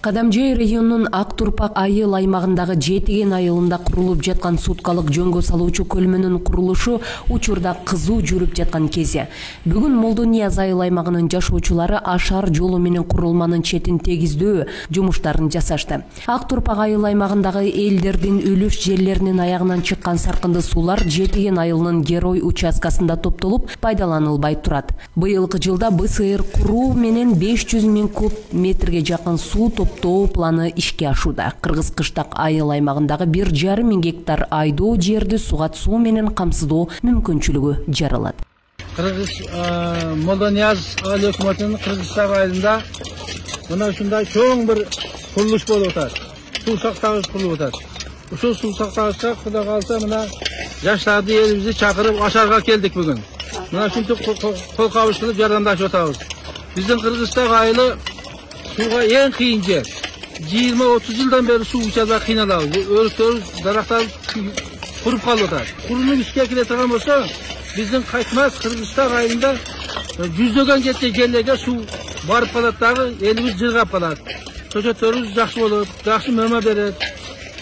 Кадамжай районунун Ак Турпак айыл аймагындагы Жетиген айылында курулуп жаткан суткалык жөнгө салуучу көлмөнүн курулушу учурда кызуу жүрүп жаткан кези. Бүгүн Молдо Нияз айыл аймагынын жашоочулары ашар жолу менен курулманын четин тегиздөө жумуштарын жасашты. Ак Турпак айыл аймагындагы элдердин үлүш жерлеринин аягынан чыккан саркынды суулар Жетиген айылынын Герой участкасында топтолуп пайдаланылбай турат. Быйылкы жылда БСР куруу менен 500 000 куб метрге жакын суу топтоо планы ишке ашууда. Кыргыз Кыштак айыл аймагындагы 1,5 миң гектар айдоо жерди сугат суу менен камсыздоо мүмкүнчүлүгү жаралат. Кыргыз Молдо Нияз айыл өкмөтүнүн Кыргызстан айылында мына ушундай чоң бир курулуш болуп атат. Суу сактагыч курулуп атат. Ушул суу сактагычка Кудай кааласа мына жаштарды элибизди чакырып ашарга келдик бүгүн. Мына ушинтип кол кабыш кылып жардамдашып атабыз. Биздин Кыргызстан айылы сууга эң кыйын жер. 20-30 жылдан бери суу ичабай кыйналабыз. Өрүктөрүбүз, дарактарыбыз куруп калып атат. Курулуп ишке кире турган болсо, биздин кайтмас Кыргызстан айылында жүздөгөн жеткен жерлерге суу барып калат дагы, элибиз жыргап калат. Чөчөттөрүбүз жакшы болот, жакшы мөмө берет.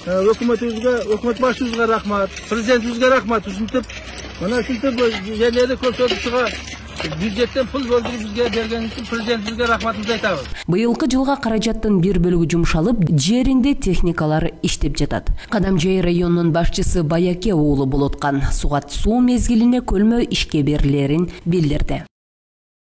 Өкмөтүбүзгө, өкмөт башчыбызга рахмат, президентибизге рахмат. Ушинтип, мына ушинтип жерлерди көрсөтүп чыга бюджеттен пул бөлдүрүп бизге берген үчүн президентибизге рахматыбызды айтабыз. Быйылкы жылга каражаттын бир бөлүгү жумшалып, жеринде техникалар иштеп жатат. Кадамжай районунун башчысы Баяке уулу Болоткан сугат суу мезгилине көлмө ишке берилерин билдирди.